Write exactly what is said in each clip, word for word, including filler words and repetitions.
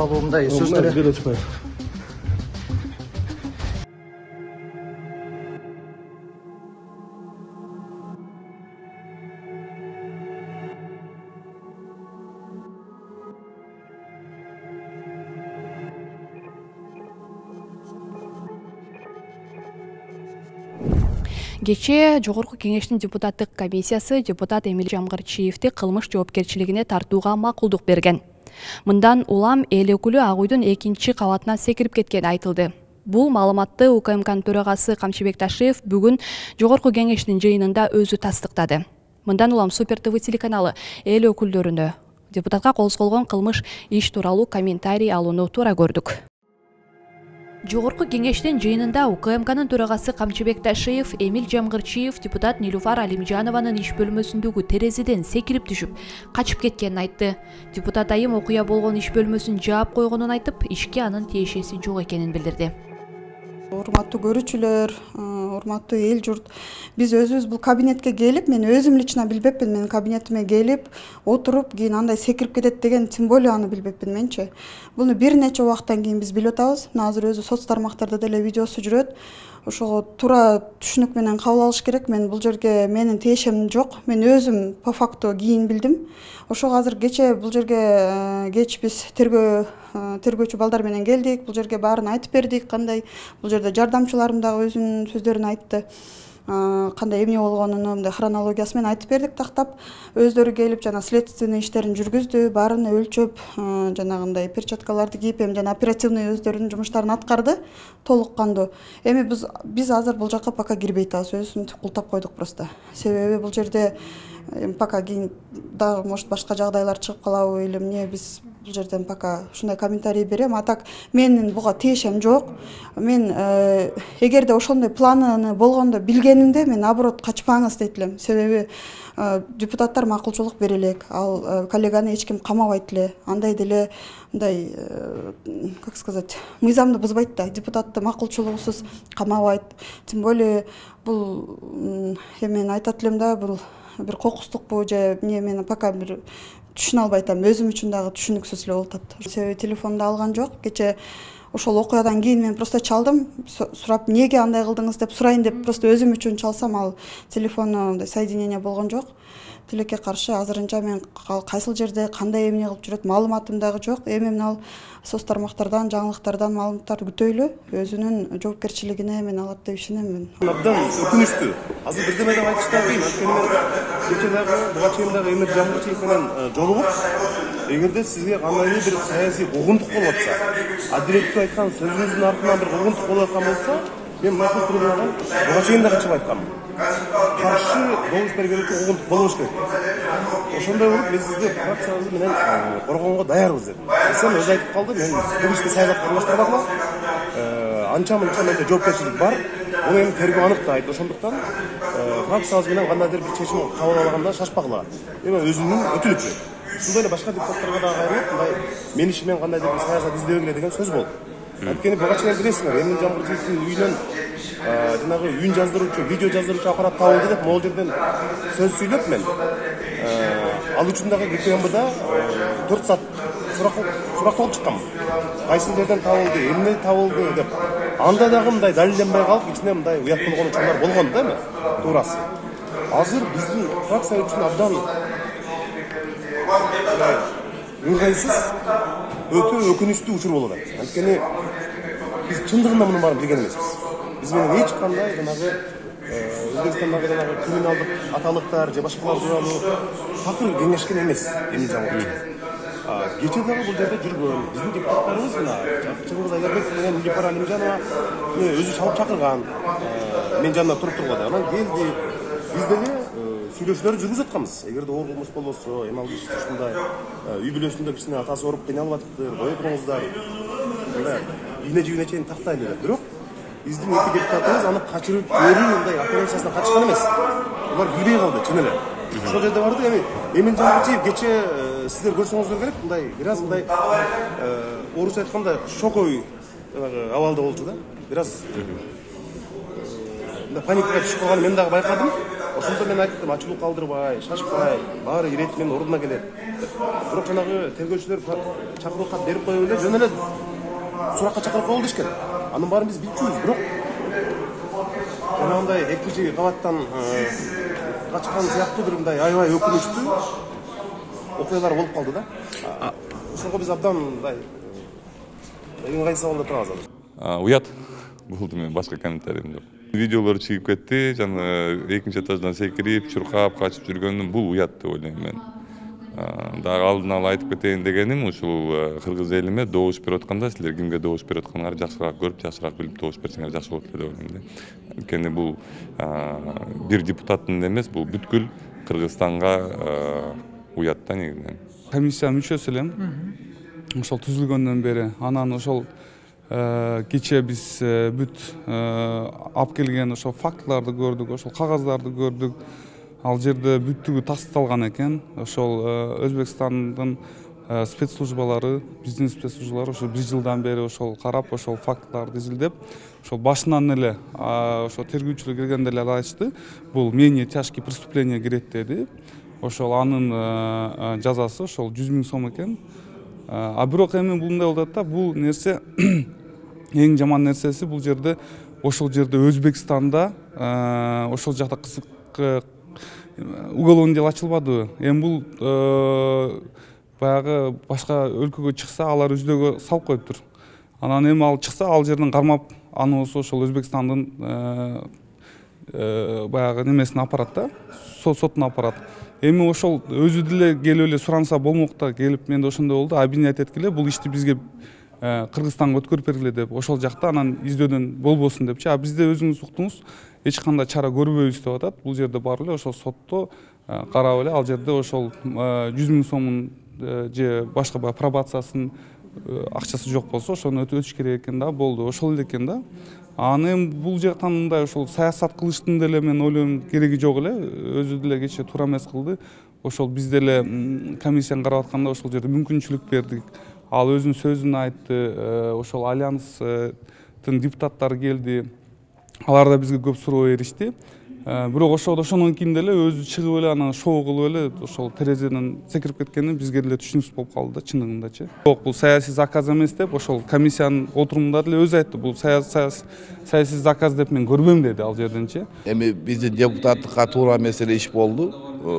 Мындай сөздөр Кечээ Жогорку Кеңештин депутаттык комиссиясы депутат Эмил Жамгырчиевди кылмыш жоопкерчилигине тартууга макулдук берген. Мындан улам эл өкүлү Ак үйдүн экинчи кабатына секирип кеткени айтылды. Бул маалыматты УКМКнын төрагасы Камчыбек Ташиев бүгүн Жогорку Кеңештин жыйынында өзү тастыктады. Мындан улам Супер ТВ телеканалы эл өкүлдөрүнө депутатка козголгон кылмыш иш тууралуу комментарий алууну туура көрдүк. Жогорку Кеңештин жыйынында УКМКнын төрагасы Камчыбек Ташиев Эмил Жамгырчиев депутат Нилуфар Алимжанованын иш бөлмөсүндөгү терезеден секирип түшүп, качып кеткенин айтты. Депутат айым окуя болгон иш бөлмөсүн жаап койгонун айтып, ишке анын тиешеси жок экенин билдирди. Урматтуу көрүүчүлөр, урматтуу эл журт, биз өзүбүз бул кабинетке келип, мен өзүм лично билбепмин, менин кабинетиме келип, отуруп, кийин андай секирип кетет деген тем более аны билбепмин менчи. Буну бир нече убакыттан кийин биз билип атабыз. Азыр өзү соц тармактарда деле видеосу жүрөт. Ошого туура түшүнүк менен кабыл алыш керек. Мен бул жерге менин тиешем жок. Мен өзүм по факту кийин билдим. Ошого азыр кече бул жерге кеч биз тергөө тергөөчү балдар менен келдик. Бул жерге баарын айтып бердик, кандай бул жерде жардамчыларым дагы өзүнүн сөздөрүн айтты. Кандай эмне болгонун мындай хронологиясы менен айтып бердик тактап. Өздөрү келип жана следственный иштерин жүргүздү, баарын өлчөп, жанагындай перчаткаларды кийип, эми жана оперативный өздөрүнүн жумуштарын аткарды толук кандуу. Эми биз биз азыр бул жакка пока кирбей атабыз, өзүбүздү култап койдук просто. Себеби бул жерде пока кийин дагы может башка жагдайлар чыгып калабы или эмне, биз бул жерден пока ушундай комментарий берем. А так менин буга тиешем жок. Мен эгерде ошондой планы болгондо билгенинде мен наоборот качпаңыз дейт элем. Себеби депутаттар макулчулук бере элек, ал коллеганы эч ким камабайт эле. Андай деле мындай, как сказать, мыйзамды бузбайт да. Депутатты макулчулугусуз камабайт. Тем более бул мен айтат элем да, бул бир кокустукпу же эмне, мен пока бир түшүнө албай атам. Өзүм үчүн дагы түшүнүксүз эле болуп атат. Себеби телефонду алган жок. Кече ошол окуядан кийин мен просто чалдым, сурап, эмнеге андай кылдыңыз деп сурайын деп просто өзүм үчүн чалсам, ал телефону соединение болгон жок. Тилекке каршы азырынча мен кайсыл жерде кандай эмне кылып жүрөт маалыматым дагы жок. Эми мына соц тармактардан, жаңылыктардан маалыматтарды күтөйлү. Өзүнүн жоопкерчилигине мен алат деп ишенем. Абдан өкүнүчтүү. Азыр бирдеме деп айтыш да кыйын. Анткени кече дагы, буга чейин дагы Эмил Жамгырчиев менен жолугуп, эгерде сизге кандайдыр бир саясий куугунтук болуп атса, адилеттүү айткан сөзүңүздүн артынан бир куугунтук болуп аткан болсо, мен мындай трибунадан буга чейин дагы чыгып айтканмын. Каршы добуш бергенде куугунтук болбош керек. Ошондой болуп, биз сизди фракциябыз менен коргонго даярбыз деп. Сен өзү айтып калды, мен бул ишти саясатка аралаштырбадым. Анча-мынча менде жоопкерчилик бар. Буну эми тергөө аныктайт. Ошондуктан фракциябыз менен кандайдыр бир чечим кабыл алганда шашпагыла. Эми өзүнүн өтүлүпү. Ушундай эле башка депутаттарга дагы кайрылып, мындай мен иши менен кандайдыр бир саясат издебегиле деген сөз болду. Анткени буга чейин билесиңер, Эмил Жамгырчиевдин үйүнөн жанагы үн жаздыруучу, видео жаздыруучу аппарат табылды деп могул жерден сөз сүйлөп мен ал үчүн дагы ГКМБда төрт саат суракталып чыкканмын. Кайсыл жерден табылды, эмне табылды деп. Анда дагы мындай далилденбей калып, ичине мындай уят болгон учурлар болгон да эми, туурасы. Азыр биздин фракция үчүн абдан ыңгайсыз, өтө өкүнүчтүү учур болуп атат. Анткени биз чындыгында мунун баарын билген эмеспиз. Биз менен эч кандай жанагы Өзбекстандагы жанагы криминалдык аталыктар же башкалар тууралуу такыр кеңешкен эмес Эмил Жамгырчиев. Кече дагы бул жерде жүргөн биздин депутаттарыбыз мына Чыңгыз Айдарбеков менен Нилуфар Алимжанова өзү чалып чакырган. Мен жанында туруп турганда анан келди. Биз деле сүйлөшүүлөрдү жүргүзүп атканбыз. Эгерде оор кылмыш болбосо, эми ал киши ушундай үй бүлөсүндө кичине атасы ооруп кыйналып атыптыр, кое туруңуздар. Мындай ийне жибине чейин тактайлы деп. Бирок биздин эки депутатыбыз аны качырып көрүү мындай операциясына катышкан эмес. Булар билбей калды, чын эле. Ошол жерде барды. Эми Эмил Жамгырчиев кече сиздер көрсөңүздөр керек, мындай бир аз мындай орусча айтканда шоковый абалда болчу да. Бир аз мындай паникага түшүп калганын мен дагы байкадым. Ошондо мен айттым, ачылуу калтырбай, шашпай, баары ирети менен ордуна келет. Бирок жанагы тергөөчүлөр чакыруу кат берип коюп эле жөн эле суракка чакырып койгул дешкен. Анын баарын биз билчүбүз, бирок жанагындай экинчи кабаттан качкан сыяктуу бир мындай аябай өкүнүчтүү окуялар болуп калды да. Ошого биз абдан мындай ыңгайсыз абалда турабыз азыр. Уят болду, мен башка комментариям жок. Видеолор чыгып кетти, жана экинчи этаждан секирип, чуркап, качып жүргөнүм бул уят деп ойлойм мен. Дагы алдын ала айтып кетейин дегеним, ушул кыргыз элиме добуш берип атканда силер кимге добуш берип атканыңарды жакшыраак көрүп, жакшыраак билип добуш берсеңер жакшы болот деп ойлойм да. Анткени бул бир депутаттын эмес, бул бүткүл Кыргызстанга уят да негизинен. Комиссия мүчөсү элем. Ошол түзүлгөндөн бери анан ошол кечээ биз бүт алып келген ошол фактыларды көрдүк, ошол кагаздарды көрдүк. Ал жерде бүттүгү тасталган экен. Ошол Өзбекстандын спецслужбалары, биздин спецслужбалар ошо бир жылдан бери ошол карап, ошол фактыларды изилдеп, ошол башынан эле ошо тергөөчүлөр келгенде эле айтышты, бул менее тяжкий преступление кирет деди. Ошол анын жазасы ошол жүз миң сом экен. А бирок эми бул мындай болуп атат да, бул нерсе эң жаман нерсеси бул жерде ошол жерде Өзбекстанда ошол жакта кызык уголовный дело ачылбадыбы. Эми бул баягы башка өлкөгө чыкса, алар үздөгө салып коюптур. Анан эми ал чыкса, ал жерден кармап, аны болсо ошол Өзбекстандын баягы немесине апарат да, сотуна апарат. Эми ошол өзү деле келип эле суранса болмок да, келип менде ошондой болду, обвинять эткиле, бул ишти бизге Кыргызстанга өткөрүп бергиле деп, ошол жакта анан издөдөн болбосун депчи. А бизде өзүңүз уктуңуз, эч кандай чара көрбөйбүз деп атат. Бул жерде бар эле ошол сотто карап эле, ал жерде ошол жүз миң сомун же башка баягы пробациясын акчасы жок болсо, ошону өтөш керек экен да, болду. Ошол эле экен да. Аны эми бул жактан мындай ошол саясат кылыштын деле мен ойлойм кереги жок эле, өзү деле кечээ туура эмес кылды. Ошол биз деле комиссияны карап атканда ошол жерде мүмкүнчүлүк бердик. Ал өзүнүн сөзүн айтты, ошол альянстын депутаттары келди. Алар да бизге көп суроо беришти. Бирок ошол ошондон кийин деле өзү чыгып эле анан шоу кылып эле ошол терезеден секирип кеткени бизге деле түшүнүксүз болуп калды да, чындыгындачы. Бирок бул саясий заказ эмес деп ошол комиссиянын отурумунда деле өзү айтты, бул саясий заказ деп мен көрбөйм деди ал жерденчи. Эми биздин депутаттыкка туура эмес эле иш болду.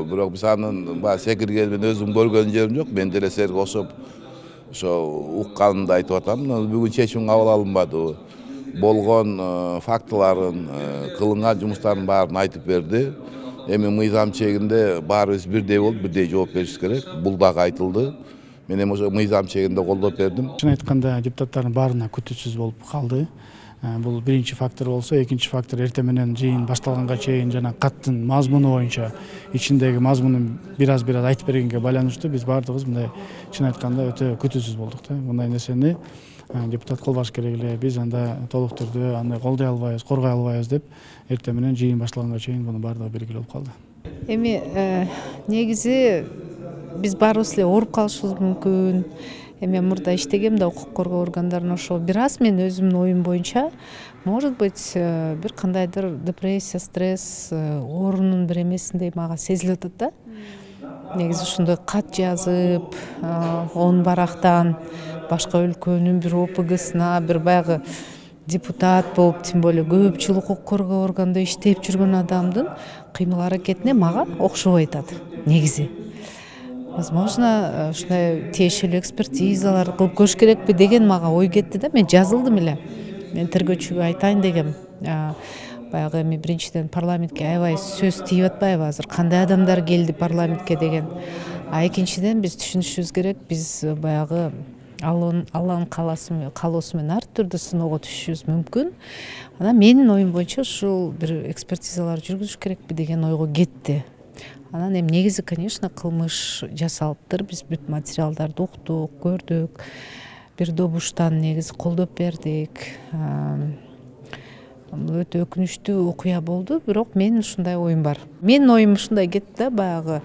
Бирок биз анын баягы секиргенин мен өзүм көргөн жерим жок. Мен деле силерге кошуп ошо укканымды айтып атам. Бүгүн чечим кабыл алынбады. Болгон фактыларын, кылынган жумуштардын баарын айтып берди. Эми мыйзам чегинде баарыбыз бирдей болуп, бирдей жооп беришибиз керек. Бул дагы айтылды. Мен эми ошо мыйзам чегинде колдоп бердим. Чын айтканда депутаттардын баарына күтүүсүз болуп калды. Бул биринчи фактор болсо, экинчи фактор эртең менен жыйын башталганга чейин жана каттын мазмуну боюнча ичиндеги мазмунун бир аз бир аз айтып бергенге байланыштуу биз баардыгыбыз мындай чын айтканда өтө күтүүсүз болдук да. Мындай нерсени депутат кылбаш керек эле, биз анда толук түрдө аны колдой албайбыз, коргой албайбыз деп эртең менен жыйын башталганга чейин муну баардыгы белгилүү болуп калды. Эми негизи биз баарыбыз эле ооруп калышыбыз мүмкүн. Эми мурда иштегем да укук коргоо органдарына, ошо бир аз мен өзүмдүн оюм боюнча, может быть, бир кандайдыр депрессия, стресс, оорунун бир эмесиндей мага сезилип атат да. Негизи ушундай кат жазып, он барактан башка өлкөнүн бир О П Гсына, бир баягы депутат болуп, тем более көп жыл укук коргоо органында иштеп жүргөн адамдын кыймыл аракетине мага окшобой атат негизи. Возможно, ушундай тиешелүү экспертизалар кылып көрүш керекпи деген мага ой кетти да. Мен жазылдым эле. Мен тергөөчүгө айтайын дегем. Баягы эми биринчиден парламентке аябай сөз тийип атпайбы азыр? Кандай адамдар келди парламентке деген. А экинчиден биз түшүнүшүбүз керек, биз баягы Алланын каалоосу менен ар түрдүү сыноого түшүшүбүз мүмкүн. Анан менин оюм боюнча ушул бир экспертизалар жүргүзүш керекпи деген ойго кетти. Анан эми негизи, конечно, кылмыш жасалыптыр. Биз бүт материалдарды уктук, көрдүк. Бир добуштан негизи колдоп бердик. Бул өтө өкүнүчтүү окуя болду, бирок менин ушундай оюм бар. Менин оюм ушундай кетти да, баягы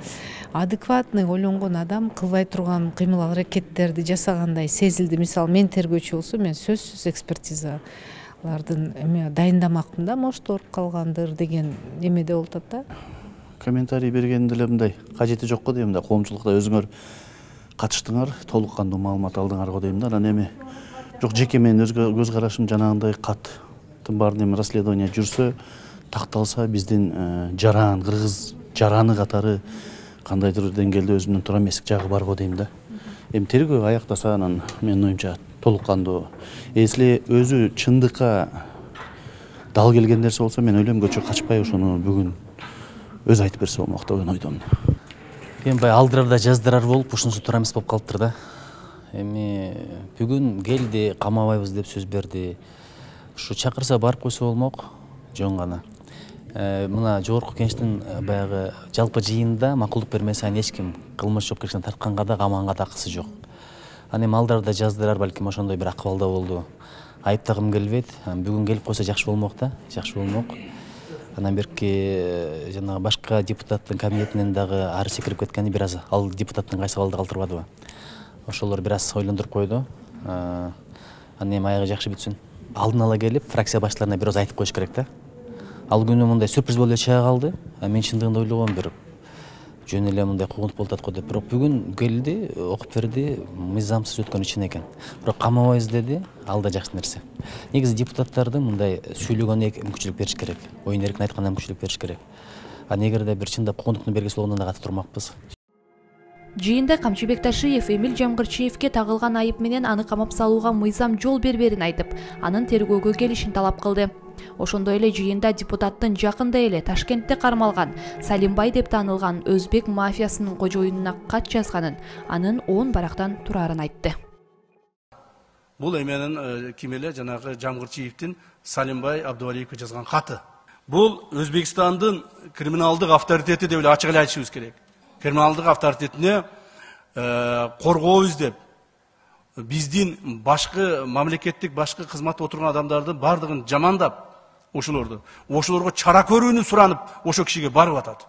адекватный ойлонгон адам кылбай турган кыймыл аракеттерди жасагандай сезилди. Мисалы, мен тергөөчү болсо, мен сөзсүз экспертиза алардын эме дайындамакмын да, может ооруп калгандыр деген эмеде болуп атат да. Комментарий бергенде эле мындай кажети жок го дейм да, коомчулукта өзүңөр катыштыңар, толук кандуу маалымат алдыңар го дейм да. Анан эми бирок жеке менин көз карашым жанагындай каттын баарын эми расследование жүрсө, такталса биздин жаран, кыргыз жараны катары кандайдыр деңгээлде өзүнүн туура эместик жагы бар го дейм да. Эми тергөө аяктаса анан менин оюмча толук кандуу. Если өзү чындыкка дал келген нерсе болсо, мен ойлойм көчө качпай ошону бүгүн өзү айтып берсе болмок деген ойдомун. Эми бай алдырарда жаздырар болуп, ушунусу туура эмес болуп калыптыр да. Эми бүгүн келди, камабайбыз деп сөз берди. Ушу чакырса барып койсо болмок, жөн гана. Мына жогорку кеңештин баягы жалпы жыйынында макулдук бермесе эч ким кылмыш жоопкерчилигине тартканга да, камаганга да акысы жок. Аны эми алдарда жаздырар, балким ошондой бир акыбалда болду. Айыптагым келбейт. Бүгүн келип койсо жакшы болмок да, жакшы болмок. Анан берки жанагы башка депутаттын кабинетинен дагы ары секирип кеткени бир аз ал депутаттын кайсы абалда калтырбадыбы. Ошолор бир аз ойлондуруп койду. Аны эми аягы жакшы бүтсүн. Алдын ала келип, фракция башчыларына бир аз айтып коюш керек да. Ал күнү мындай сюрприз болуп чыга калды. Мен чындыгында ойлогом бир жөн эле мындай куугунтук болуп атат го деп. Бирок бүгүн келди, окуп берди, мыйзамсыз өткөн чын экен. Бирок камабайбыз деди, ал да жакшы нерсе. Негизи депутаттардын мындай сүйлөгөнүнө мүмкүнчүлүк бериш керек. Оюн эркин айтканына мүмкүнчүлүк бериш керек. А эгерде бир чындап куугунтуктун бергеси болгондон да катып турмакпыз. Жыйында Камчыбек Ташиев Эмил Жамгырчиевке тагылган айып менен аны камап салууга мыйзам жол берберин айтып, анын тергөөгө келишин талап кылды. Ошондой эле жыйында депутаттын жакында эле Ташкентте кармалган Салимбай деп таанылган өзбек мафиясынын кожоюнуна кат жазганын, анын он барактан турарын айтты. Бул эменин ким эле жанагы Жамгырчиевдин Салимбай Абдувалиевге жазган каты. Бул Өзбекстандын криминалдык авторитети деп эле ачык эле айтышыбыз керек. Криминалдык авторитетине коргообуз деп биздин башкы мамлекеттик башкы кызматта отурган адамдардын бардыгын жамандап, ошолорду, ошолорго чара көрүүнү суранып, ошо кишиге барып атат.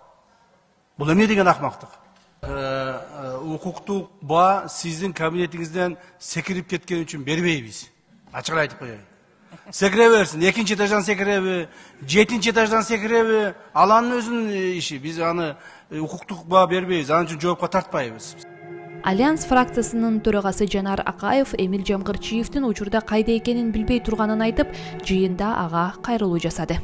Бул эмне деген акмактык? Укуктук баа сиздин кабинетиңизден секирип кеткен үчүн бербейбиз. Ачык айтып коеюн. Секире берсин, экинчи этаждан секиреби, жетинчи этаждан секиреби, ал анын өзүнүн иши. Биз аны укуктук баа бербейбиз, анын үчүн жоопко тартпайбыз. Альянс фракциясынын төрагасы Жанар Акаев Эмил Жамгырчиевдин учурда кайда экенин билбей турганын айтып, жыйында ага кайрылуу жасады.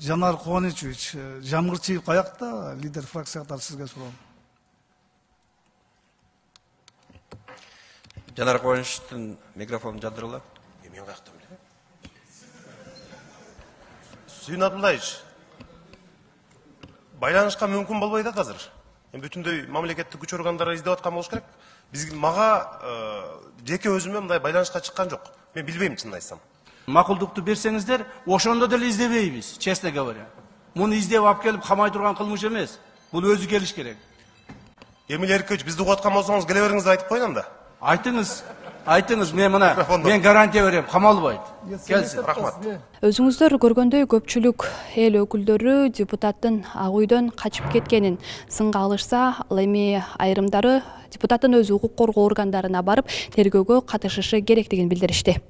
Жанар Кубанычевич, Жамгырчиев каякта? Лидер фракция катары сизге суроом. Жанар Кубанычевдин микрофонун жандыргыла. Мен каяктан билем? Сүйүн Абдуллаевич, байланышка мүмкүн болбойт да азыр. Эми бүтүндөй мамлекеттик күч органдары издеп аткан болуш керек. Биз мага жеке өзүмө мындай байланышка чыккан жок. Мен билбейм, чынын айтсам. Макулдукту берсеңиздер, ошондо деле издебейбиз, честно говоря. Муну издеп алып келип камай турган кылмыш эмес. Бул өзү келиш керек. Эмил Эркиевич, бизди угуп аткан болсоңуз, келе бериңиз айтып коеюн да. Айтыңыз, айтыңыз, мен мына, мен гарантия берем, камалбайт. Келсин. Рахмат. Өзүңүздөр көргөндөй көпчүлүк эл өкүлдөрү депутаттын ак үйдөн качып кеткенин сынга алышса, ал эми айрымдары депутаттын өзү укук коргоо органдарына барып тергөөгө катышышы керектигин билдиришти.